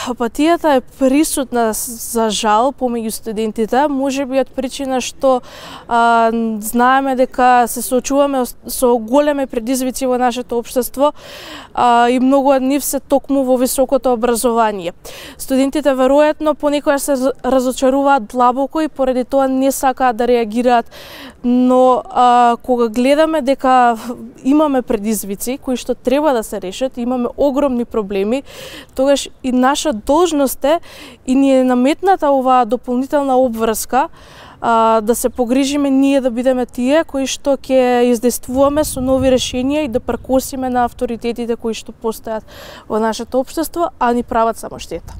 Апатијата е присутна за жал помеѓу студентите, можеби од причина што знаеме дека се соочуваме со големи предизвици во нашето општество и многу од нив се токму во високото образование. Студентите веројатно понекогаш се разочаруваат длабоко и поради тоа не сакаат да реагираат, но кога гледаме дека имаме предизвици кои што треба да се решат, имаме огромни проблеми, тогаш и наша должност е и ни е наметната оваа дополнителна обврска да се погрижиме ние да бидеме тие кои што ќе издействуваме со нови решенија и да прекосиме на авторитетите кои што постојат во нашето општество, а ни прават само штета.